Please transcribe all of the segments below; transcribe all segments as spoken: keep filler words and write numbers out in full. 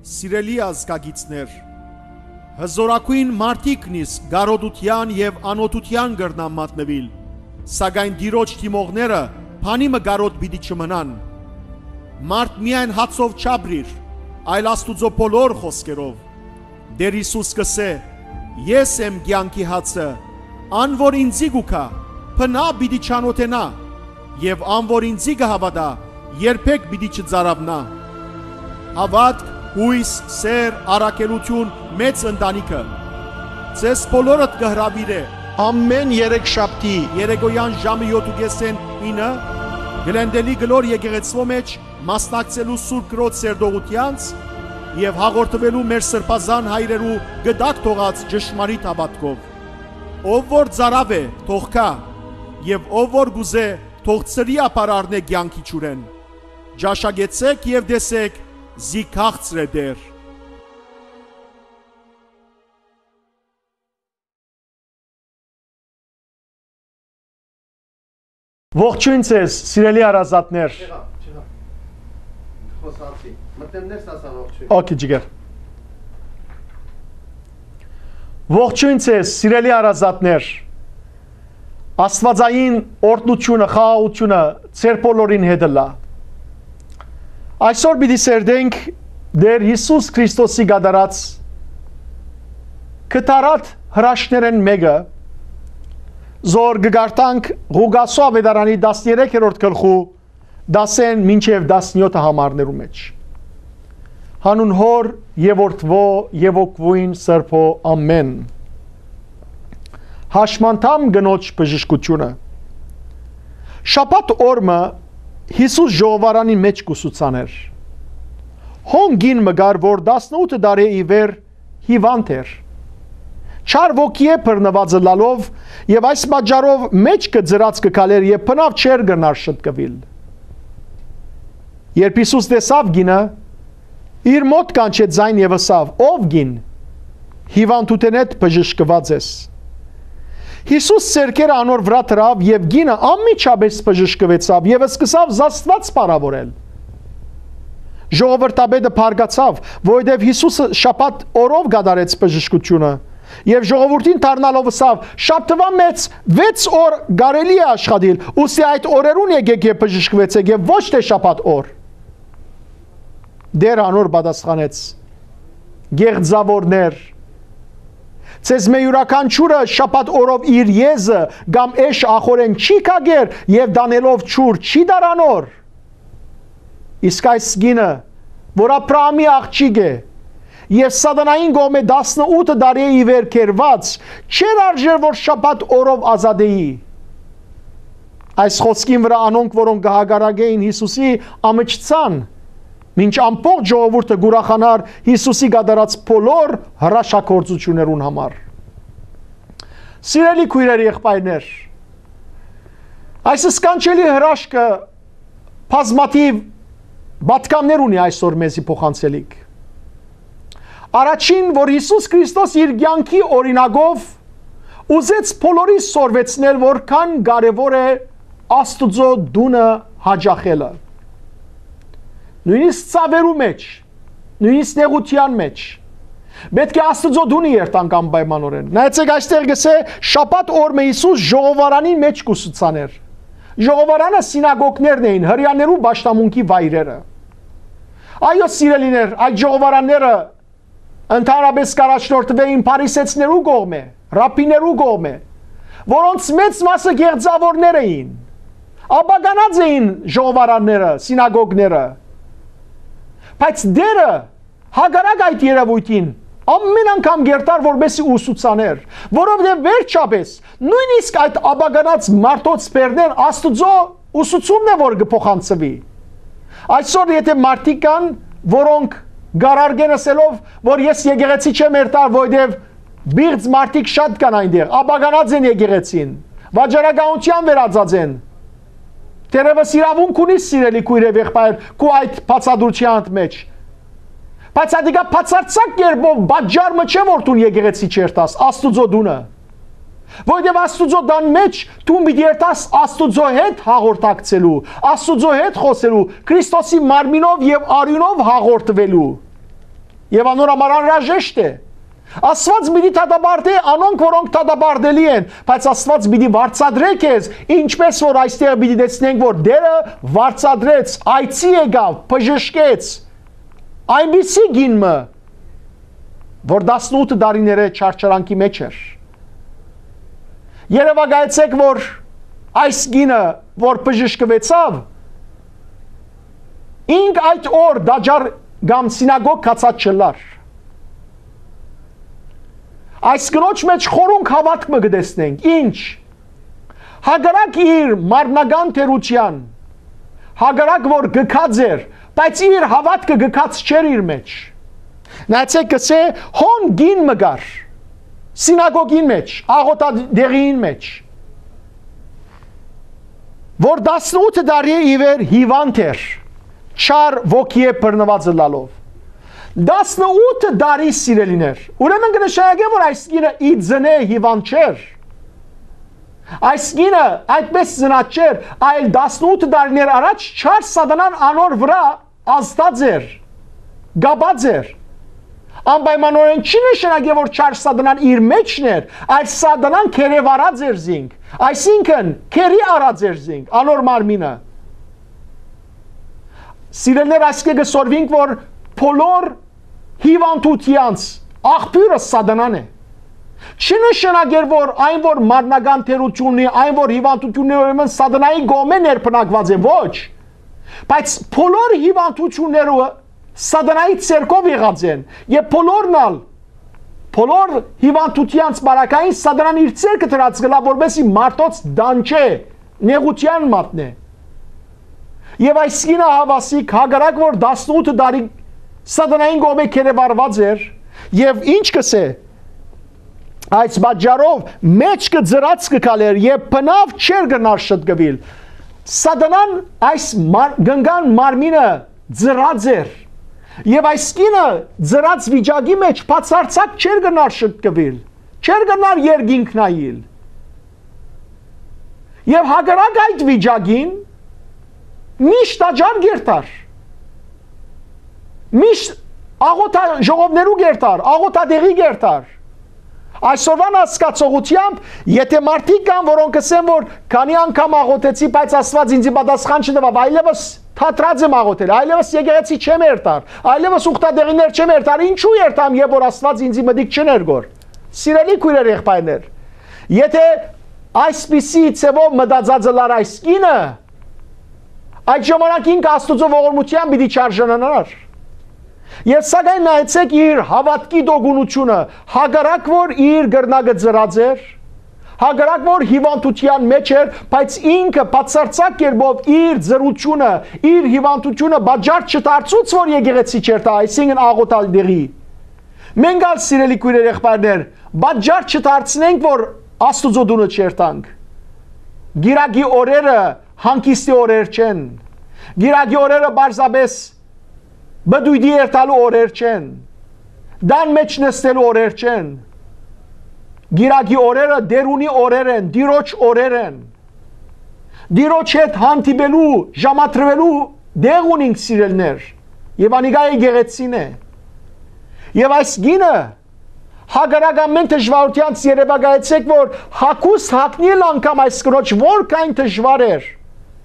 Սիրելի ազգագիցներ, հզօրագոյն մարդիկ նիսկ կարօտութեան եւ անօթութեան կրնան մատնուիլ, սակայն Տիրոջ դիմողները բանի մը կարօտ պիտի չմնան։ Մարդ միայն հացով չապրիր, այլ Աստուծոյ բոլոր խօսքերով։ Տէր Յիսուս կ'ըսէ. «Ես եմ կեանքի հացը, ան որ ինծի կու գայ, բնաւ պիտի չանօթենայ, եւ ան որ ինծի կը հաւատայ, երբեք պիտի չծարաւնայ»։ Հաւատք, յոյս, սէր, առաքելութիւն, մեծ ընտանիքը ձեզ բոլորդ կը հրաւիրէ։ Ամէն երեք շաբթի երեկոյեան ժամը յոթ ու կէսէն ինը Գլենդելի կլոր եկեղեցւոյ մէջ մասնակցելու Սուրբ Կրոջ սերտողութեանց եւ հաղորդուելու մեր սրբազան հայրերու կտակ թողած ճշմարիտ հաւատքով։ Ով որ ծարաւ է, թող գայ, եւ ով որ կ'ուզէ, թող ծրի ապար առնէ կեանքի ջուրէն։ Ճաշակեցէք եւ տեսէք, զի քաղցր է Տէր։ Ողջոյն ձեզ, սիրելի հարազատներ։ Չեղա, չեղա։ Խոսացի։ Մտնեմ ներս, ասա ողջոյն։ Okay, ջիգեր։ Ողջոյն ձեզ, սիրելի հարազատներ։ Աստուածային օրհնութիւնը, խաղաղութիւնը ձեր բոլորին հետ ըլլայ։ Այսօր պիտի սերտենք Տէր Յիսուս Քրիստոսի կատարած կտարատ հրաշքներէն մէկը, զոր կը կարդանք Ղուկասու աւետարանի տասներեքերորդ գլխու դասէն մինչեւ տասնեօթ համարներու մէջ։ Յանուն Հօր եւ Որդուոյ եւ Հոգւոյն Սրբոյ, ամէն։ Հաշմանդամ կնոջ բժշկութիւնը։ Շաբաթ օր մը Յիսուս ժողովարանի մէջ կ'ուսուցանէր։ Հոն կին մը կար, որ տասնութ տարի ի վեր հիվանդ էր։ Չար ոգիէ բռնուած ըլլալով եւ այս պատճառով մէջքը ծրած կը քալէր եւ բնաւ չէր կրնար շտկուիլ։ Երբ Յիսուս տեսաւ կինը, իր մօտ կանչեց զայն եւ ըսաւ. «Ով կին, հիվանդութենէդ բժշկուած ես»։ Յիսուս ձեռքերը անոր վրայ դրաւ եւ կինը անմիջապէս բժշկուեցաւ եւ սկսաւ զաստուած փառաւորել։ Ժողովրդապետը բարկացաւ, որովհետեւ Յիսուսը շաբաթ օրով կատարեց բժշկութիւնը, եւ ժողովուրդին դառնալով ըսաւ. «Շաբթուան մէջ վեց օր կարելի է աշխատիլ, ուստի այդ օրերուն եկէք եւ բժշկուեցէք եւ ոչ թէ շաբաթ օր»։ Տէր անոր պատասխանեց. «Գեղձաւորներ, ձեզմէ իւրաքանչիւրը շաբաթ օրով իր եզը կամ էշ ախորէն չի քակեր եւ տանելով ջուր չի տար անոր։ Իսկ այս կինը, որ Աբրահամի աղջիկ է եւ սատանային կողմէ տասնութ տարի ի վեր գերուած, չէր արժեր որ շաբաթ օրով ազատէի»։ Այս խօսքին վրայ անոնք, որոնք կը հակառակէին Յիսուսի, ամչցան, մինչ ամբողջ ժողովուրդը կ'ուրախանար Յիսուսի կատարած բոլոր հրաշագործութիւններուն համար։ Սիրելի քոյրեր, եղբայրներ, այս սքանչելի հրաշքը բազմաթիւ պատգամներ ունի այսօր մեզի փոխանցելիք։ Առաջին, որ Յիսուս Քրիստոս իր կեանքի օրինակով ուզեց բոլորիս սորվեցնել, որքան կարեւոր է Աստուծոյ տունը յաճախելը։ Նոյնիսկ ցաւերու մէջ, նոյնիսկ նեղութեան մէջ, պէտք է Աստուծոյ տունը երթանք անպայմանօրէն։ Նայեցէք, այստեղ կ'ըսէ. «Շաբաթ օր մը Յիսուս ժողովարանին մէջ կ'ուսուցանէր»։ Ժողովարանը սինագոգներն էին, հրեաներու պաշտամունքի վայրերը։ Այո, սիրելիներ, այդ ժողովարանները ընդհանրապէս կ'առաջնորդուէին փարիսեցիներու կողմէ, ռաբբիներու կողմէ, որոնց մեծ մասը գեղձաւորներ էին, ապականած էին ժողովարանները, սինագոգները։ Բայց Տէրը, հակառակ այդ երեւոյթին, ամէն անգամ կ'երթար որպէսզի ուսուցանէր, որովհետեւ վերջապէս նոյնիսկ այդ ապականած մարդոց բերնէն Աստուծոյ ուսուցումն է, որ կը փոխանցուի։ Այսօր եթէ մարդիկ կան, որոնք կ'առարկեն ըսելով, որ ես եկեղեցի չեմ երթար, որովհետեւ պիղծ մարդիկ շատ կան այնտեղ, ապականած են եկեղեցին, վաճառականութեան վերածած են։ Թերեւս իրաւունք ունի, սիրելի քոյր եւ եղբայր, քու այդ բացատրութեանդ մէջ։ Բայց ատիկա բացարձակ կերպով պատճառ մը չէ, որ դուն եկեղեցի չերթաս, Աստուծոյ տունը։ Որովհետեւ Աստուծոյ տան մէջ դուն պիտի երթաս Աստուծոյ հետ հաղորդակցելու, Աստուծոյ հետ խօսելու, Քրիստոսի մարմինով եւ արիւնով հաղորդուելու։ Եւ անոր համար անհրաժեշտ է։ Աստուած պիտի դատապարտէ անոնք, որոնք դատապարտելի են, բայց Աստուած պիտի վարձատրէ քեզ, ինչպէս որ այստեղ պիտի տեսնենք, որ Տէրը վարձատրեց, այցի եկաւ, բժշկեց այնպիսի կին մը, որ տասնութ տարիներէ չարչարանքի մէջ էր։ Երեւակայեցէք, որ այս կինը, որ բժշկուեցաւ, ինք այդ օր տաճար կամ սինագոգ գացած չըլլար։ Այս կնոջ մէջ խորունկ հաւատք մը կը տեսնենք։ Ինչ։ Հակառակ իր մարմնական թերութեան, հակառակ որ գքած էր, բայց իր հաւատքը գքած չէր իր մէջ։ Նայեցէք, կսէ, հոն կին մը կար, սինագոգին մէջ, աղօթատեղիին մէջ, որ տասնութ տարի ի վեր հիվանդ էր, չար ոգիէ բռնուած ըլլալով։ Տասնութ տարի, սիրելիներ, ուրեմն կը նշանակէ, որ այս կինը ի ծնե հիվանդ չէր։ Այս կինը այդպես ծնած չէր, այլ տասնութ տարիներ առաջ չար սատանան անոր վրայ ազդած էր, կապած էր։ Անպայմանորեն չի նշանակէ, որ չար սատանան իր մէջն էր, այլ սատանան գերեվարած էր զինք, այսինքն՝ գերի առած էր զինք, անոր մարմինը։ Սիրելիներ, այսքէ կը սորվինք, որ բոլոր հիվանդութեանց աղբիւրը սատանան է։ Չի նշանակեր, որ այն, որ մարմնական թերութիւն ունի, այն, որ հիվանդութիւններ, ուրեմն սատանայի կողմէ ներբնակված է, ոչ։ Բայց բոլոր հիվանդութիւնները սատանայի ձեռքով եղած են, եւ բոլորն ալ, բոլոր հիվանդութեանց պարագային սատանան իր ձեռքը դրած կլա, որպեսզի մարդոց դանչէ, նեղութեան մատնէ։ Եւ այս կինը, հաւասիկ, հակառակ որ տասնութ տարի սատանային կողմէ գերեվարված էր, եւ ինչ կսէ, այս պատճառով մէջքը ծռած կը քալէր եւ բնաւ չէր կրնար շտկուիլ։ Սատանան այս մար-, կնկան մարմինը ծռած էր, եւ այս կինը ծռած վիճակի մէջ բացարձակ չէր կրնար շտկուիլ, չէր կրնար երկինք նայիլ։ Եւ հակառակ այդ վիճակին միշտ տաճար կերթար, միշտ աղօթա-, ժողովներու կերթար, աղօթատեղի կերթար։ Այսօրվան հասկացողութեամբ, եթե մարդիկ կան, որոնք կ'ըսեն, որ քանի անգամ աղօթեցի, բայց Աստուած ինձի պատասխան չտուաւ, այլեւս թատրած եմ աղօթել, այլեւս եկեղեցի չեմ երթար, այլեւս ուխտատեղիներ չեմ երթար, ինչու՞ երթամ, երբ որ Աստուած ինձի մտիկ չներկոր։ Սիրելի քոյրեր, եղբայրներ, եթե այսպիսի ձևով մտածած ըլլար այս կինը, այդ ժամանակ ինքը Աստուծոյ ողորմութեան պիտի չարժանանար։ Եւ սակայն նայեցէք իր հաւատքի տոկունութիւնը, հակառակ որ իր կրնակը ծռած էր, հակառակ որ հիւանդութեան մէջ էր, բայց ինքը բացարձակ կերպով իր ծռութիւնը, իր հիւանդութիւնը պատճառ չդարձուց, որ եկեղեցի չերթայ, այսինքն՝ աղօթատեղի։ Մենք ալ, սիրելի քոյրեր, եղբայրներ, պատճառ չդարձնենք, որ Աստուծոյ տունը չերթանք։ Կիրակի օրերը հանգիստի օրեր չեն։ Կիրակի օրերը պարզապէս պտոյտի երթալու օրեր չեն, տան մէջ նստելու օրեր չեն։ Կիրակի օրերը Տէրունի օրեր են, Տիրոջ օրեր են։ Տիրոջ հետ հանդիպելու, ժամադրվելու տեղ ունինք, սիրելիներ, եւ անիկա եկեղեցին է։ Եւ այս կինը, հակառակ ամեն դժուարութեանց, երեւակայեցէք, որ հագուստ հագնիլ անգամ այս կնոջ որքան դժուար էր,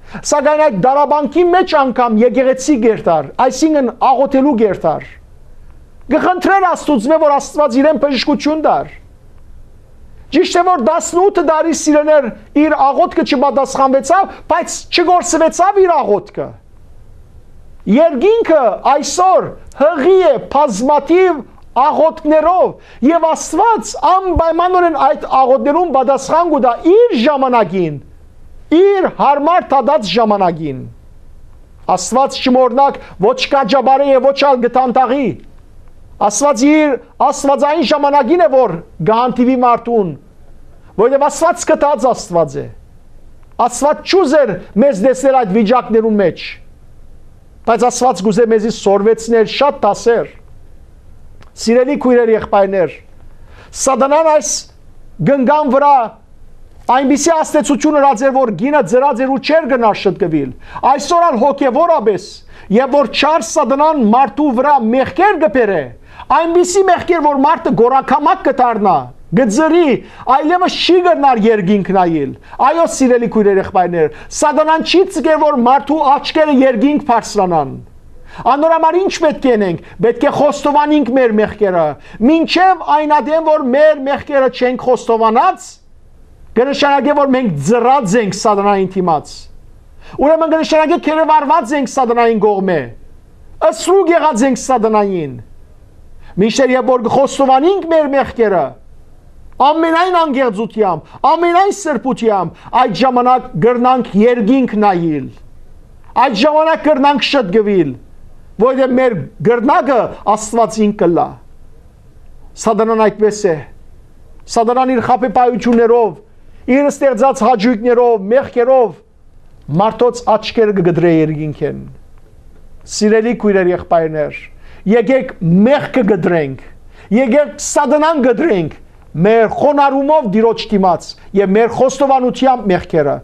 սակայն այդ դարաբանքի մէջ անգամ եկեղեցի կերթար, այսինքն՝ աղօթելու կերթար, կը խնդրեր Աստուծմէ, որ Աստուած իրեն բժշկութիւն տար։ Ճիշդ է, որ տասնութ տարի, սիրելիներ, իր աղօթքը չպատասխանուեցաւ, բայց չգործուեցաւ իր աղօթքը։ Երկինքը այսօր յղի է բազմաթիւ աղօթքներով, եւ Աստուած անպայմանորեն այդ աղօթքներուն պատասխան կու տայ իր ժամանակին, իր յարմար դատած ժամանակին։ Աստուած, չմոռնաք, ոչ կ'աճապարէ եւ ոչ ալ կը դանդաղի։ Աստուած իր աստուածային ժամանակին է, որ կը հանդիպի մարդուն, որովհետեւ Աստուած գթած Աստուած է։ Աստուած չուզեր մեզ տեսնել այդ վիճակներուն մէջ, բայց Աստուած կ'ուզէ մեզի սորվեցնել շատ դասեր։ Սիրելի քոյրեր, եղբայրներ, սատանան այս կնկան վրայ այնպիսի ազդեցութիւն ըրած էր, որ կինը ծռած էր ու չէր կրնար շտկուիլ։ Այսօր ալ հոգեւորապէս Եւ որ չար Սատանան մարդու վրայ մեղքեր կը բերէ, այնպիսի մեղքեր, որ մարդը գորակամակ կը դառնայ, կը ծռի, այլեւս չի կրնար երկինք նայիլ։ Այո, սիրելի քոյրեր, եղբայրներ, Սատանան չի ձգեր, որ մարդու աչքերը երկինք բարձրանան։ Անոր համար ի՞նչ պէտք է ընենք։ Պէտք է խոստովանինք մեր մեղքերը, մինչեւ այն ատեն, որ մեր մեղքերը չենք խոստովանած, կը նշանակէ, որ մենք ծռած ենք Սատանային դիմաց։ Ուրեմն կը նշանակէ, գերեվարուած ենք Սատանային կողմէ, սրուկ եղած ենք Սատանային։ Մինչդեռ երբ որ կը խոստովանինք մեր մեղքերը, ամենայն անկեղծութեամբ, ամենայն սրբութեամբ, այդ ժամանակ կրնանք երկինք նայիլ։ Այդ ժամանակ կրնանք շտկուիլ, որովհետեւ մեր կրնակը Աստուածին կ'ըլլայ։ Սատանան այդպէս է։ Սատանան իր խաբեբայութիւններով, իր ստեղծած հաճոյքներով, մեղքերով մարդոց աչքերը կը կտրէ երկինքէն։ Սիրելի քոյրեր, եղբայրներ, եկեք մեղքը կտրենք, եկեք Սատանան կտրենք մեր խոնարհումով Տիրոջ դիմաց եւ մեր խոստովանութեամբ մեղքերը,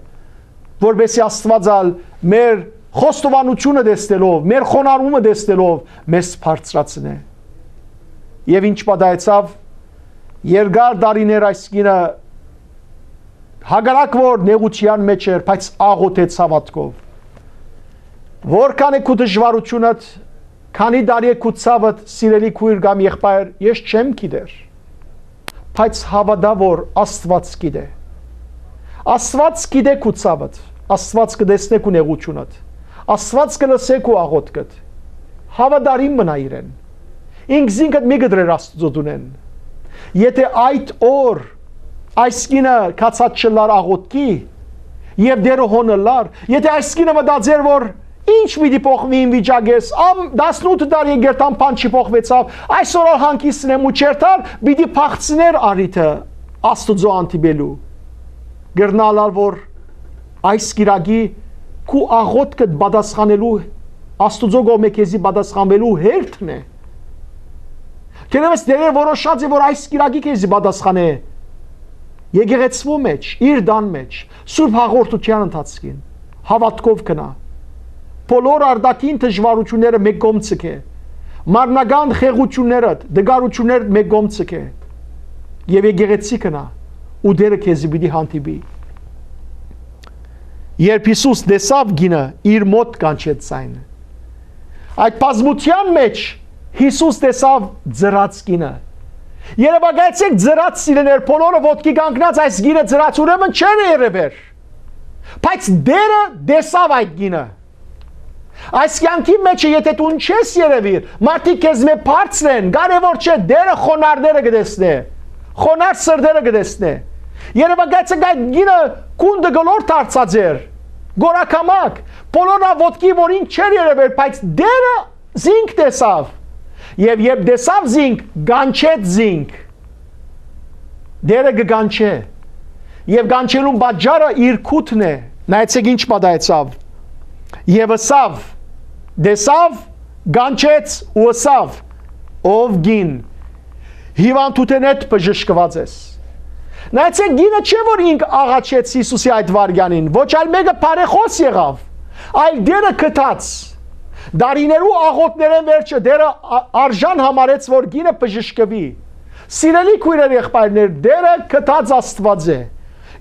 որպեսզի Աստուած ալ մեր խոստովանութիւնը տեսնելով, մեր խոնարհումը տեսնելով, մեզ բարձրացնէ։ Եւ ի՞նչ պատահեցաւ։ Երկար տարիներ այս կինը, հակառակ որ նեղութեան մէջ էր, բայց աղօթեց հաւատքով։ Որքան է քու դժուարութիւնդ, քանի տարի է քու ցաւդ, սիրելի քոյր կամ եղբայր, ես չեմ գիտեր, բայց հաւատա որ Աստուած գիտէ։ Աստուած գիտէ քու ցաւդ, Աստուած կը տեսնէ քու նեղութիւնդ, Աստուած կը լսէ քու աղօթքդ։ Հաւատարիմ մնա իրեն։ Ինքզինքդ մի կտրեր Աստուծոյ դունէն։ Եթէ այդ օր այս կինը գացած չըլլար աղօթքի, եւ Տէրը հոն ըլլար, եթէ այս կինը մտածեր որ ի՞նչ պիտի փոխուի իմ վիճակս, ամ տասնութ տարի եկերթան բան չի փոխուեցաւ, այսօր ալ հանգիստն եմ ու չերթար, պիտի փախցնէր առիթը Աստուծոյ հանդիպելու։ Կրնայ ըլլալ որ այս կիրակի քու աղօթքդ պատասխանելու, Աստուծոյ կողմէ քեզի պատասխանուելու հերթն է։ Թերեւս Տէրը որոշած է որ այս կիրակի քեզի պատասխանէ եկեղեցւոյ մէջ, իր տան մէջ, սուրբ հաղորդութեան ընթացքին, հաւատքով գնա։ Բոլոր արտաքին դժուարութիւնները մէկ կողմ ձգէ, մարմնական խեղութիւններդ, տկարութիւններդ մէկ կողմ ձգէ, եւ եկեղեցի գնա, ու Տէրը քեզի պիտի հանդիպի։ Երբ Յիսուս տեսաւ կինը, իր մօտ կանչեց զայն։ Այդ բազմութեան մէջ Յիսուս տեսաւ ծռած կինը։ Երեւակայեցէք, ծռած, սիրելիներ, բոլորը ոտքի կանգնած, այս կինը ծռած, ուրեմն չէր երեւեր։ Բայց Տէրը տեսաւ այդ կինը։ Այս կեանքի մէջ է, եթէ դուն չես երեւիր, մարդիկ քեզմէ բարձր են, կարեւոր չէ, Տէրը խոնարհները կը տեսնէ, խոնարհ սրտերը կը տեսնէ։ Երեւակայեցէք, այդ կինը գունդը կլոր դարձած էր, գորակամակ, բոլոր ան ոտքի որ ինք չէր երևեր, բայց Տէրը զինք տեսաւ, եւ երբ տեսաւ զինք, կանչեց զինք։ Տէրը կը կանչէ, եւ կանչելուն պատճառը իր քութն է։ Նայեցեք ինչ պատահեցաւ։ Եւ ըսաւ, տեսաւ, կանչեց ու ըսաւ. «Ով կին, հիվանդութենէդ բժշկուած ես»։ Նայեցեք, կինը չէ որ ինք աղաչեց Յիսուսի այդ վարքյանին, ոչ այլ մէկը բարեխօս եղաւ, այլ Տէրը գտած։ Դարիներու աղօթներէն վերջը Տէրը ա-, արժան համարեց որ կինը բժշկուի։ Սիրելի քոյրեր, եղբայրներ, Տէրը գտած Աստուած է։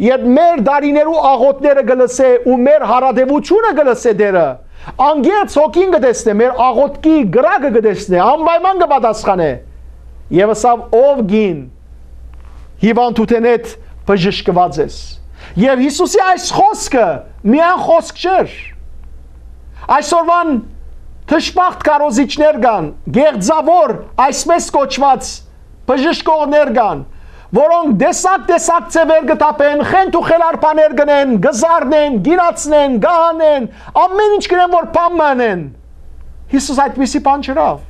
Երբ մեր դարիներու աղօթները կը լսէ ու մեր հարատեւութիւնը կը լսէ Տէրը, անկեղծ հոգին կը տեսնէ, մեր աղօթքի կրակը կը տեսնէ, անպայման կը պատասխանէ։ Եւ ըսաւ. «Ով կին, հիվանդութենէդ բժշկուած ես»։ Եւ Յիսուսի այս խօսքը միայն խօսք չէր։ Այսօրվան դժբախտ քարոզիչներ կան, գեղձաւոր, այսպես կոչուած բժշկողներ կան, որոնք տեսակ-տեսակ ձևեր կը թափեն, խենթ ու խելար բաներ կ'ընեն, կը զարնեն, կ'իրացնեն, կ'ահանեն, ամէն ինչ կ'ընեն որ բան մը ընեն։ Յիսուս այդպիսի բան չըրաւ,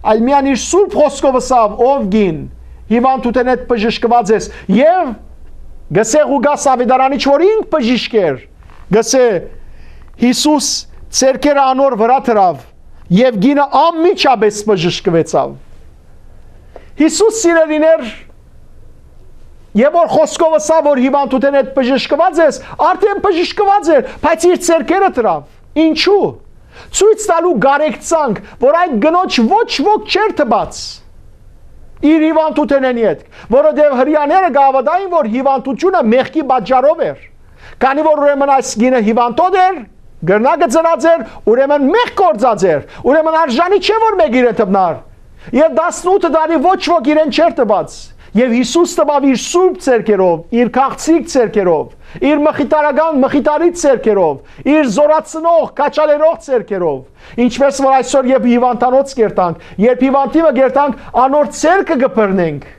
այլ միայն իր սուրբ խօսքով ըսաւ. «Ով կին, հիվանդութենէդ բժշկուած ես»։ Եւ գսե Ղուկաս աւետարանիչ, որ ինք բժիշկ էր, գսե. Յիսուս ձեռքերը անոր վրայ դրաւ, եւ կինը անմիջապէս բժշկուեցաւ։ Յիսուս, սիրելիներ, եւ որ խօսքով ըսաւ որ հիվանդութենէդ բժշկուած ես, արդեն բժշկուած էր, բայց իր ձեռքերը դրաւ։ Ինչու՞։ Ցոյց տալու կարեկցանք, որ այդ կնոջ ոչ ոք չէր տպած իր հիվանդութենէն ետք, որովհետեւ Հրեաները կ'աւատային, որ հիվանդութիւնը մեղքի պատճառով էր։ Քանի որ ուրեմն այս կինը հիվանդոտ էր, կրնա կը ծնած էր, ուրեմն մեղք գործած էր, ուրեմն արժանի չէ, որ մէկ իրեն դպնար։ Եւ տասնութ տարի ոչ ոք իրեն չէր տպած։ Եւ Յիսուս տպաւ իր սուրբ ձեռքերով, իր քաղցիկ ձեռքերով, իր մխիթարական, մխիթարիչ ձեռքերով, իր զորացնող, քաչալերող ձեռքերով։ Ինչպես որ այսօր, երբ հիվանդանոց կերտանք, երբ հիվանդի մը կերտանք, անոր ձեռքը կը բռնենք,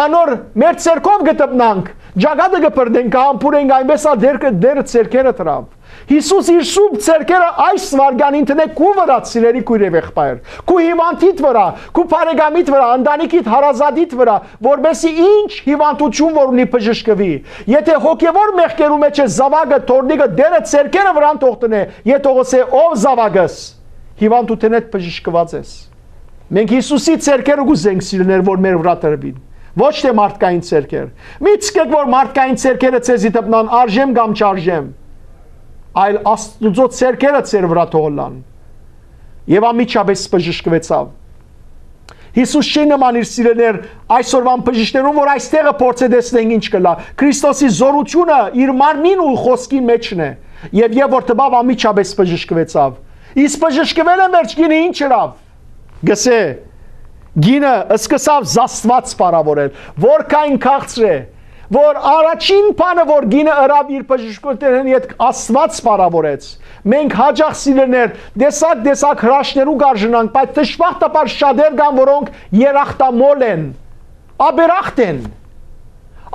անոր մեր ձեռքով կը դպնանք, ճակատը կը բռնենք, կը համբուրենք, այնպես ալ Տերը, Տերը ձեռքերը դրաւ։ Յիսուս իր սուրբ ձեռքերը այս վայրկեանին դնէ քու վրայ, սիրելի քոյր եւ եղբայր, քու հիվանդիդ վրայ, քու բարեկամիդ վրայ, ընտանիքիդ, հարազատիդ վրայ, որպեսզի ինչ հիվանդութիւն որ ունի, բժշկուի։ Եթե հոգեվոր մեղքերու մէջ է, զաւակը, թոռնիկը, Տերը ձեռքերը վրան թող դնէ, եւ թող ըսէ. «Ով զաւակս, հիվանդութենէդ բժշկուած ես»։ Մենք Յիսուսի ձեռքերը կ'ուզենք, սիրելիներ, որ մեր վրայ տրուին, ոչ թէ մարդկային ձեռքեր։ Մի չկեք, որ մարդկային ձեռքերը ձեզի դպնան, արժեմ կամ չարժեմ, այլ Աստուծոյ ձեռքերը ձեր վրայ թող ըլլան։ Եւ անմիջապէս բժշկուեցաւ։ Յիսուս չի նման, իր սիրելիներ, այսօրուան բժիշկներուն, որ այստեղը փորձ է տեսնենք ինչ կ'ըլլայ։ Քրիստոսի զօրութիւնը իր մարմնին ու խօսքին մէջն է։ Եւ երբ որ տպաւ, անմիջապէս բժշկուեցաւ։ Իսկ բժշկուելէն վերջ կինը ինչ ըրաւ։ Գսէ, կինը սկսաւ զաստուած փառաւորել, որքան քաղցր է, որ առաջին բանը, որ կինը ըրաւ իր բժշկութենէն ետք, Աստուած փառաւորեց։ Մենք յաճախ, սիրելիներ, տեսակ-տեսակ հրաշքներու կ'արժանանք, բայց դժբախտաբար շատեր կան, որոնք երախտամոլ են, աբերախտ են։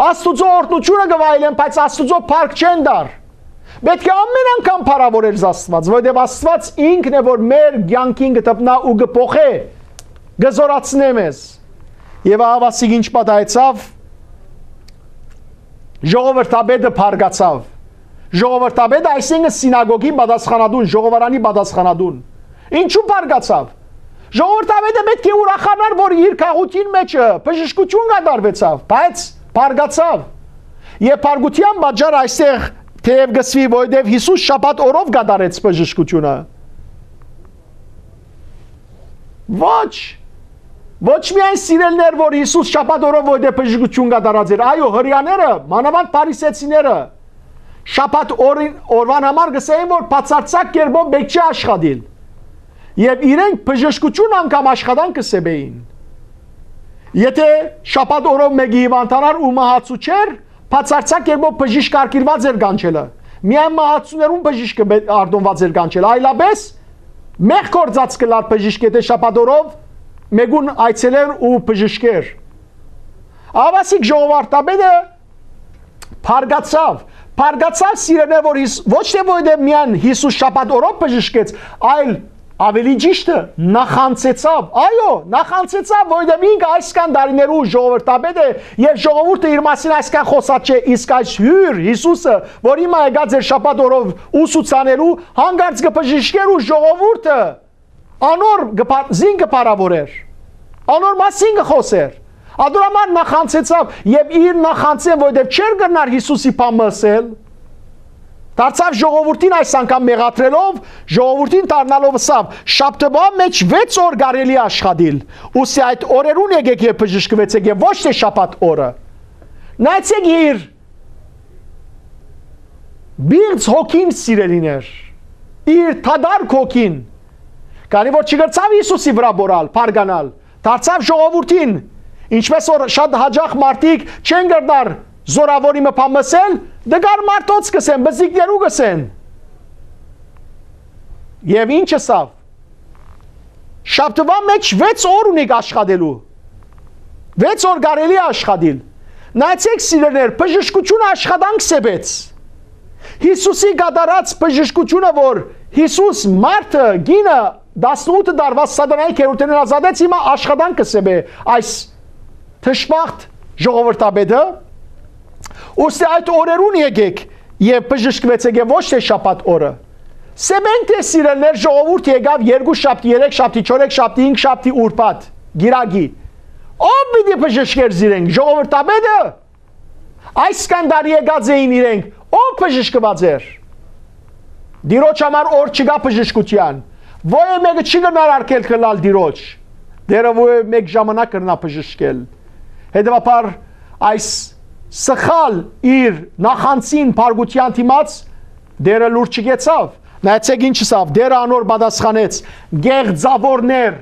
Աստուծոյ օրհնութիւնը կը վայելեն, բայց Աստուծոյ փառք չեն տար։ Պէտք է ամէն անգամ փառաւորել Աստուած, որովհետեւ Աստուած ինքն է, որ մեր կեանքին կը դպնայ ու կը փոխէ, կը զօրացնէ մեզ։ Եւ ահա ասիկ ինչ պատահեցաւ, ժողովրդապետը փառկացաւ։ Ժողովրդապետը, այսինքն, սինագոգի պատասխանատուն, ժողովարանի պատասխանատուն։ Ինչու փառկացաւ։ Ժողովրդապետը պէտք է ուրախանար, որ իր քաղաքին մէջը բժշկութիւն կատարուեցաւ, բայց փառկացաւ։ Եւ փառկութեան պատճառը այստեղ թէեւ կ'ըսուի, որովհետեւ Յիսուս շաբաթ օրով կատարեց բժշկութիւնը։ Ոչ։ Ոչ միայն, սիրելիներ, որ Յիսուս շաբաթ օրով որովհետեւ բժշկութիւն կատարած էր, այո, Հրեաները, մանաւանդ փարիսեցիները, շաբաթ օրին, օրուան համար կ'ըսէին, որ բացարձակ կերպով պէտք չէ աշխատիլ։ Եւ իրենք բժշկութիւն անգամ աշխատանքը սեպեին։ Եթե շաբաթ օրով մէկը հիվանդանար ու մահացու չէր, բացարձակ կերպով բժիշկ արգիլուած էր կանչելը։ Միայն մահացուներուն բժիշկը պէ-, արտոնուած էր կանչելը, այլապես մեղք գործած կ'ըլլար բժիշկ, եթե շաբաթ օրով մէկուն այցելեր ու բժշկեր։ Ահա ասիկ ժողովրդապետը փառկացաւ, փառկացաւ, սիրելիներ, որ Յիս-, ոչ թէ որովհետեւ միայն Յիսուս շաբաթ օրով բժշկեց, այլ, ավելի ճիշտը, նախանձեցաւ։ Այո, նախանձեցաւ, որովհետեւ ինքը այսքան տարիներու ժողովրդապետ է եւ ժողովուրդը իր մասին այսքան խօսած չէ, իսկ այս հիւր Յիսուսը, որ հիմա եկած էր շաբաթ օրով ուսուցանելու, հանկարծ կը բժշկեր ու ժողովուրդը անոր կը փա-, զին կը փառաւորէր, անոր մասին կը խօսէր։ Ատոր համար նախանձեցաւ եւ իր նախանձեն, որովհետեւ չէր կրնար Յիսուսի բան մը ըսել, դարձաւ ժողովուրդին այս անգամ մեղադրելով, ժողովուրդին դառնալով ըսաւ. «Շաբթուան մէջ վեց օր կարելի է աշխատիլ, ուստի այդ օրերուն եկեք եւ բժշկուեցեք եւ ոչ թէ շաբաթ օրը»։ Նայեցեք իր պիղծ հոգին, սիրելիներ, իր թադար հոգին, քանի որ չկրցաւ Յիսուսի վրայ բորալ, փառկանալ, դարձաւ ժողովուրդին, ինչպես որ շատ յաճախ մարդիկ չեն կրնար զորաւորի մը բան մսել, դգար մարդոց կսեն, բզիկներու կսեն։ Եւ ինչ ըսաւ. «Շաբթուան մէջ վեց օր ունիք աշխատելու։ Վեց օր կարելի է աշխատիլ»։ Նայեցեք, սիրելիներ, բժշկությունը աշխատանք սեպեց։ Յիսուսի կատարած բժշկությունը, որ Յիսուս մարդը, կինը, տասնութ տարուած սատանայի գերութենէն ազատեց, հիմա աշխատանքը սեպ է այս դժբախտ ժողովրդապետը, ուստի այդ օրերուն եկեք եւ բժշկվեցեք եւ ոչ թէ շաբաթ օրը։ Սեպ ենք թէ, սիրելիներ, ժողովուրդ եկաւ երկու շաբթի, երեք շաբթի, չորեքշաբթի, հինգշաբթի, ուրբաթ, կիրակի։ Ո՞վ պիտի բժշկէր զիրենք, ժողովրդապետը։ Այսքան տարի եկած էին իրենք, ո՞վ բժշկված էր։ Տիրոջ համար օր չկայ բժշկութեան։ Ոեւ մէկը չի կրնար արգելք ըլլալ Տիրոջ։ Տէրը ոեւ մէկ ժամանակ կրնայ բժշկել։ Հետեւաբար այս սխալ իր նախանձին բարկութեան դիմաց Տէրը լուր չկեցաւ։ Նայեցէք ինչ ըսաւ, Տէրը անոր պատասխանեց. «Կեղծաւորներ»։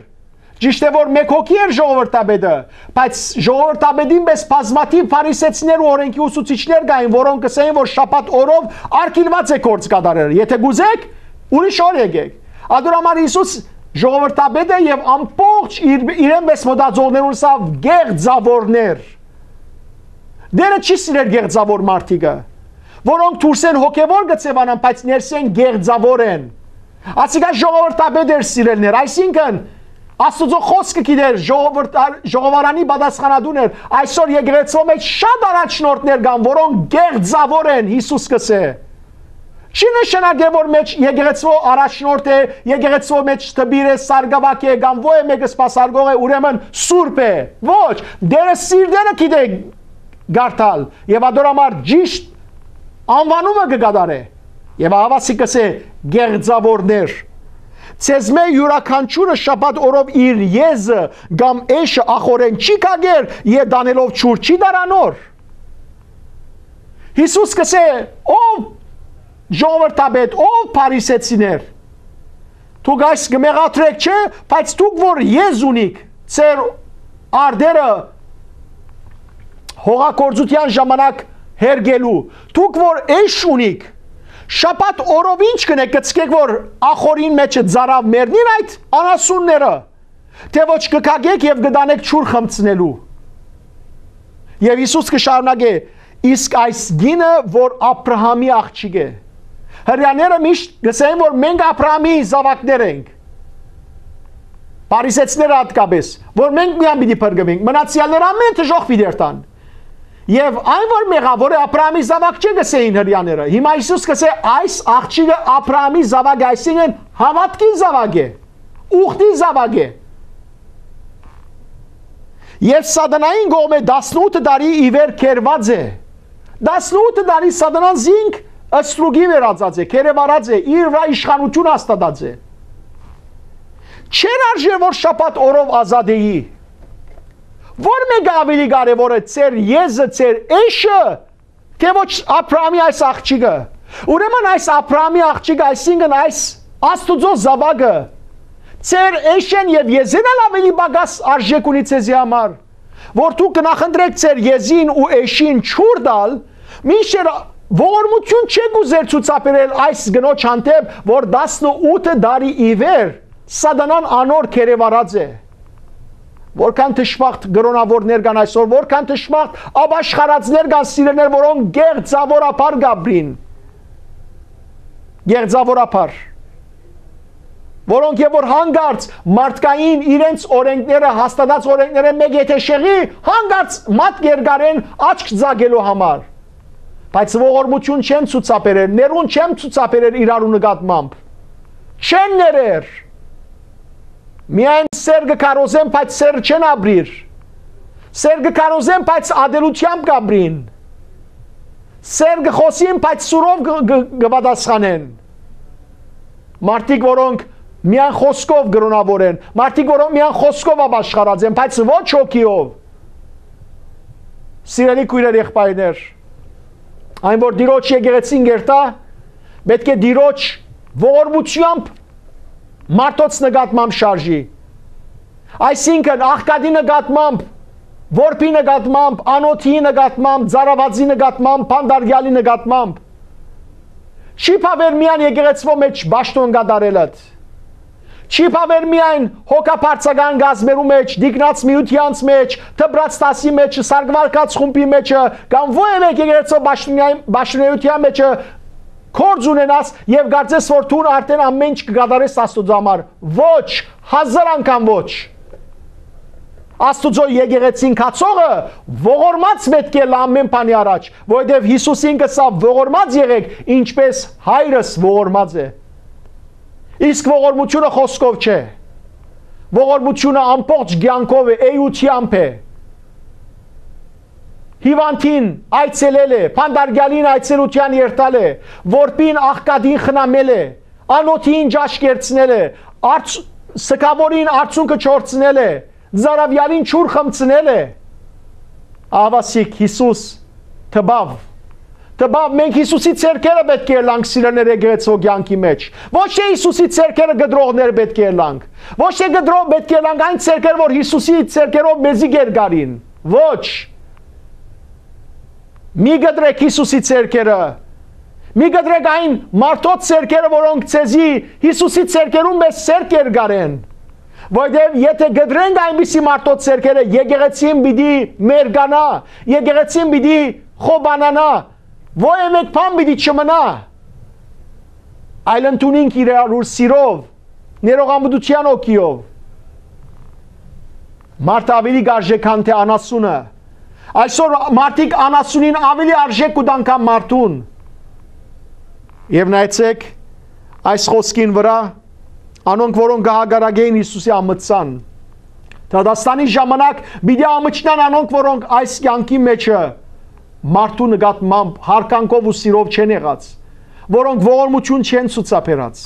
Ճիշդ է որ մէկ հոգի էր ժողովրդապետը, բայց ժողովրդապետին պէս բազմաթիւ փարիսեցիներ ու օրէնքի ուսուցիչներ կային, որոնք կ'ըսէին որ շաբաթ օրով արգիլուած է գործ կատարել։ Եթէ կ'ուզէք, ուրիշ օր եկէք։ Ատոր համար Յիսուս ժողովրդապետը եւ ամբողջ իր, իրեն պէս մտածողներուն ըսաւ. «Կեղծաւորներ»։ Տէրը չի սիրեր կեղծաւոր մարդիկը, որոնք դուրսէն հոգեւոր կը ձեւանան, բայց ներսէն կեղծաւոր են։ Ասիկա ժողովրդապետ էր, սիրելիներ, այսինքն Աստուծոյ խօսքը գիտեր, ժողովրդար-, ժողովարանի պատասխանատուն էր։ Այսօր եկեղեցւոյ մէջ շատ առաջնորդներ կան, որոնք կեղծաւոր են, Յիսուս կ'ըսէ։ Չի նշանակեր որ մէջ եկեղեցւոյ առաջնորդ է, եկեղեցւոյ մէջ դպիր է, սարկաւագ է, կամ ոեւ մէկը սպասարկող է, ուրեմն սուրբ է։ Ոչ, Տէրը սիրտերը գիտէ կարդալ եւ ատոր համար ճիշտ անուանումը կը կատարէ։ Եւ ահա սի կ'ըսէ. «Կեղծաւորներ, ձեզմէ իւրաքանչիւրը շաբաթ օրով իր եզը կամ էշը ախորեն չի կագեր, ետ անելով ջուր չի դար անոր»։ Յիսուս կ'ըսէ. «Ով ժողովրդապետ, ով փարիսեցիներ, դուք այս կը մեղադրէք, չէ՞, բայց դուք որ եզ ունիք, ձեր արտերը հողագործութեան ժամանակ հերկելու, դուք որ էշ ունիք, շաբաթ օրով ի՞նչ կ'ընէք, կ'ցկէք որ ախորին մէջը ծարաւ մեռնին այդ անասունները, թէ ոչ կը կագէք եւ կը տանէք ջուր խմցնելու»։ Եւ Յիսուս կը շարունակէ. «Իսկ այս կինը որ Աբրահամի աղջիկ է»։ Հրեաները միշտ կ'ըսեն որ մենք Աբրահամի զաւակներ ենք, փարիսեցիները հատկապէս, որ մենք միայն պիտի փրկուենք, մնացեալները ամէն դժոխք պիտի երթան։ Եւ այն որ մեղաւոր է, Աբրահամի զաւակ չէ, կ'ըսէին հրեաները։ Հիմա Յիսուս կ'ըսէ. «Այս աղջիկը Աբրահամի զաւակ է», այսինքն հաւատքի զաւակ է, ուխտի զաւակ է։ Եւ Սատանային կողմէ տասնութ տարի ի վեր կերուած է։ Տասնութ տարի Սատանան զինք ստրուկի վերածած է, կերեւարած է, իր վրայ իշխանութիւն հաստատած է։ Չէր արժեր որ շաբաթ օրով ազատէի։ Ո՞ր մէկը աւելի կարեւոր է, ձեր եզը, ձեր էշը, թէ ոչ Աբրահամի այս աղջիկը։ Ուրեմն այս Աբրահամի աղջիկը, այսինքն այս Աստուծոյ զաւակը, ձեր էշէն եւ եզէն ալ աւելի պակաս արժէք ունի ձեզի համար, որ դուք կը նախընտրէք ձեր եզին ու էշին ջուր տալ, մինչդեռ ողորմութիւն չէք ուզեր ցուցաբերել այս կնոջ հանդէպ, որ տասնութ տարի ի վեր Սատանան անոր կերեւարած է։ Որքան դժբախտ կրոնաւորներ կան այսօր, որքան դժբախտ ապաշխարածներ կան, սիրելիներ, որոնք կեղծաւորաբար կ'ապրին։ Կեղծաւորաբար։ Որոնք եւ որ հանկարծ մարդկային իրենց օրենքները, հաստատած օրենքները մէկ եթէ շեղի, հանկարծ մատ կ'երկարեն աչք ծակելու համար։ Բայց ողորմութիւն չեն ցուցաբերեր, ներուն չեն ցուցաբերեր իրարու նկատմամբ։ Չեն ներեր։ Միայն սեր կը քարոզեն, բայց սեր չեն ապրիր։ Սեր կը քարոզեն, բայց ատելությամբ կ'ապրին։ Սեր կը խօսին, բայց սուրով կը, կը, կը պատասխանեն։ Մարդիկ, որոնք միայն խօսքով կրոնաւոր են, մարդիկ, որոնք միայն խօսքով ապաշխարած են, բայց ոչ հոգիով։ Սիրելի քոյրեր, եղբայրներ, այն որ Տիրոջ եկեղեցին կերտայ, պէտք է Տիրոջ ողորմութեամբ մարդոց նկատմամբ շարժի։ Այսինքն, աղքատի նկատմամբ, որբի նկատմամբ, անօթի նկատմամբ, ծարավածի նկատմամբ, բանտարկեալի նկատմամբ։ Չի բաւեր միայն եկեղեցւոյ մէջ պաշտօն կատարելդ։ Չի բաւեր միայն հոգապարծական գազմերու մէջ, դիկնած միութեանց մէջ, դպրած դասի մէջ, սարկվարկած խումբի մէջը, կամ ովեւէ եկեղեցւոյ պաշտոնեայ-, պաշտոնեայութեան մէջը գործ ունենաս եւ կարծես որ դուն արդեն ամեն ինչ կը կատարես Աստուծոյ համար։ Ոչ, հազար անգամ ոչ։ Աստուծոյ եկեղեցին գացողը ողորմած պէտք է ըլլայ ամեն բանի առաջ, որովհետեւ Յիսուս ինքը ըսաւ. «Ողորմած եղէք, ինչպես հայրս ողորմած է»։ Իսկ ողորմութիւնը խօսքով չէ։ Ողորմութիւնը ամբողջ կեանքով է, էութեամբ է։ հիւանդին այցելել է, բանտարկեալին այցելութեան երթալ է, որբին աղքատին խնամել է, անօթիին ճաշ կերցնել է, արց-, սքանորին արցունքը չորցնել է, ծարաւեալին ջուր խմցնել է։ Ահաւասիկ Յիսուս տպաւ։ Տպաւ, մենք Յիսուսի ձեռքերը պէտք է ըլլանք, սիրելիներ, եկեղեցւոյ կեանքի մէջ։ Ոչ թէ Յիսուսի ձեռքերը կտրողներ պէտք է ըլլանք։ Ոչ թէ կտրող պէտք է ըլլանք այն ձեռքերը, որ Յիսուսի ձեռքերով մեզի կերկարին։ Ոչ։ Մի կտրեք Յիսուսի ձեռքերը։ Մի կտրեք այն մարդոց ձեռքերը, որոնք ձեզի Յիսուսի ձեռքերուն պես ձեռք կերկարեն։ Որտեւ եթե կտրենք այնպիսի մարդոց ձեռքերը, եկեղեցին պիտի մերկանայ, եկեղեցին պիտի խոբանանայ, ոեւէ մէկ բան պիտի չմնայ, այլ ընդունինք իրարու սիրով, ներողամտության հոգիով։ Մարդը աւելի կ'արժէ, քան թէ անասունը։ Այսօր մարդիկ անասունին աւելի արժէք կու տան, քան մարդուն։ Եւ նայեցէք այս խօսքին վրայ, անոնք, որոնք կը հակառակէին Յիսուսի ամտցան, դատաստանի ժամանակ պիտի ամչնան անոնք, որոնք այս կեանքի մէջը մարդու նկատմամբ յարգանքով ու սիրով չեն եղած, որոնք ողորմութիւն չեն ցուցաբերած։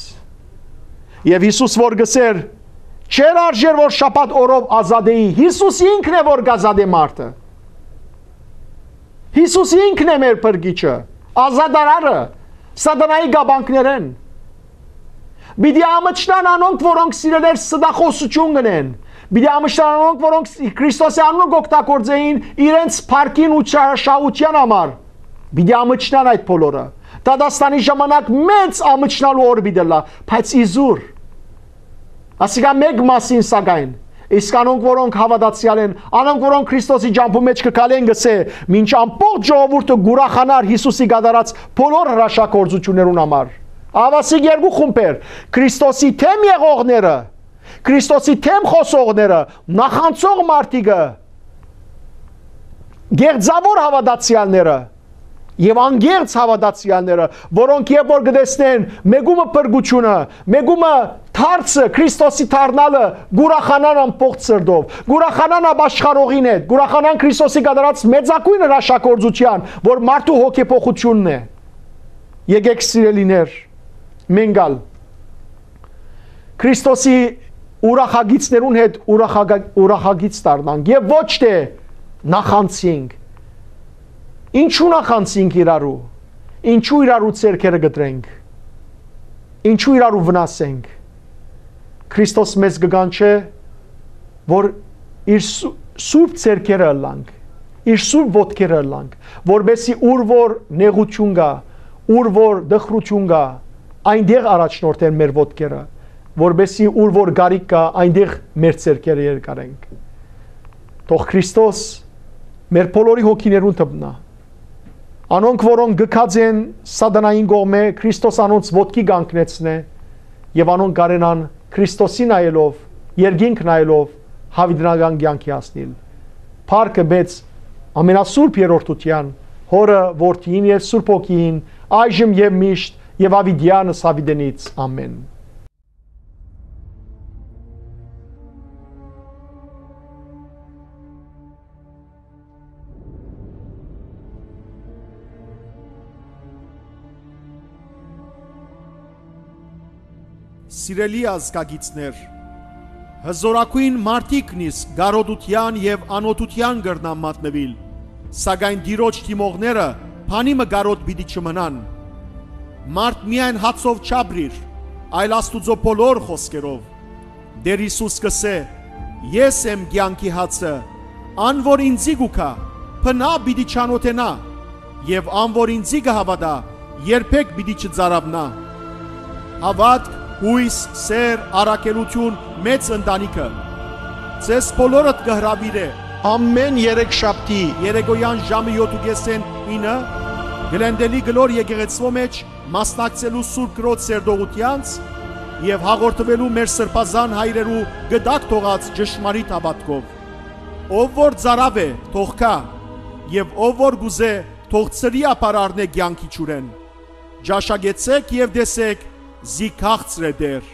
Եւ Յիսուս որ գսէր, չէր արժեր որ շաբաթ օրով ազատէի։ Յիսուս ինքն է որ կ'ազատէ մարդը։ Յիսուս ինքն է մեր փրկիչը, ազատարարը սատանայի կապանքներէն։ Պիտի ամչնան անոնք, որոնք, սիրելիներ, ստախոսութիւն կ'ընեն։ Պիտի ամչնան անոնք, որոնք Քրիստոսի անունը կ'օգտագործէին իրենց փառքին ու չարաշահութեան համար։ Պիտի ամչնան այդ բոլորը։ Դատաստանի ժամանակ մեծ ամչնալու օր պիտի ըլլայ, բայց իզուր։ Ասիկա մէկ մասին, սակայն, իսկ անոնք, որոնք հաւատացեալ են, անոնք, որոնք Քրիստոսի ճամբու մէջ կը քալեն, կ'ըսէ, մինչ ամբողջ ժողովուրդը կ'ուրախանար Յիսուսի կատարած բոլոր հրաշագործութիւններուն համար։ Ահաւասիկ երկու խումբեր. Քրիստոսի դէմ եղողները, Քրիստոսի դէմ խօսողները, նախանցող մարդիկը, գեղձաւոր հաւատացեալները եւ անկեղծ հաւատացեալները, որոնք երբ որ կը տեսնեն մեկումը փրկութիւնը, մեկումը դարձը, Քրիստոսի դառնալը, կ'ուրախանան ամբողջ սրտով, կ'ուրախանան ապաշխարողին հետ, կ'ուրախանան Քրիստոսի կատարած մեծագոյն հրաշագործութեան, որ մարդու հոգեփոխութիւնն է։ Եկէք, սիրելիներ, մենք ալ Քրիստոսի ուրախագիծներուն հետ ուրախագ-, ուրախագիծ դառնանք եւ ոչ թէ նախանցինք։ Ինչու նախանցինք իրարու, ինչու իրարու ձեռքերը կտրենք, ինչու իրարու վնասենք։ Քրիստոս մեզ կը կանչէ, որ իր սու-, սուրբ ձեռքերը ըլլանք, իր սուրբ ոտքերը ըլլանք, որպեսզի ուր որ նեղություն կայ, ուր որ տխրություն կայ, այնտեղ առաջնորդեն մեր ոտքերը, որպեսզի ուր որ կարիք կայ, այնտեղ մեր ձեռքերը երկարենք։ Թող Քրիստոս մեր բոլորի հոգիներուն դպնայ։ Անոնք, որոնք գքած են սատանային կողմէ, Քրիստոս անոնց ոտքի կանգնեցնէ եւ անոնք կարենան Քրիստոսի նայելով, երկինք նայելով, յաւիտենական կեանքի հասնիլ։ Փառքը մեծ ամենասուրբ երրորդութեան, Հօրը, Որդիին եւ Սուրբ Հոգիին, այժմ եւ միշտ, եւ յաւիտեանս յաւիտենից։ Ամէն։ Սիրելի ազգագիցներ, հզորագոյն մարդիկ նիսկ կարօտութեան եւ անօթութեան կրնան մատնուիլ, սակայն Տիրոջ դիմողները բանի մը կարօտ պիտի չմնան։ Մարդ միայն հացով չապրիր, այլ Աստուծոյ բոլոր խօսքերով։ Տէր Յիսուս կ'ըսէ. «Ես եմ կեանքի հացը, ան որ ինծի կու գայ, բնաւ պիտի չանօթենայ, եւ ան որ ինծի կը հաւատայ, երբեք պիտի չծարաւնայ»։ Հաւատք, յոյս, սէր, առաքելութիւն, մեծ ընտանիքը ձեզ բոլորդ կը հրաւիրէ ամէն երեք շաբթի երեկոյեան ժամը յոթ ու կէսէն ինը Գլենդէլի կլոր եկեղեցւոյ մէջ մասնակցելու Սուրբ Կրոջ սերտողութեանց եւ հաղորդուելու մեր սրբազան հայրերու կտակ թողած ճշմարիտ հաւատքով։ Ով որ ծարաւ է, թող գայ, եւ ով որ կ'ուզէ, թող ծրի ապար առնէ կեանքի ջուրէն։ Ճաշակեցէք եւ տեսէք, զի քաղցր է Տէր։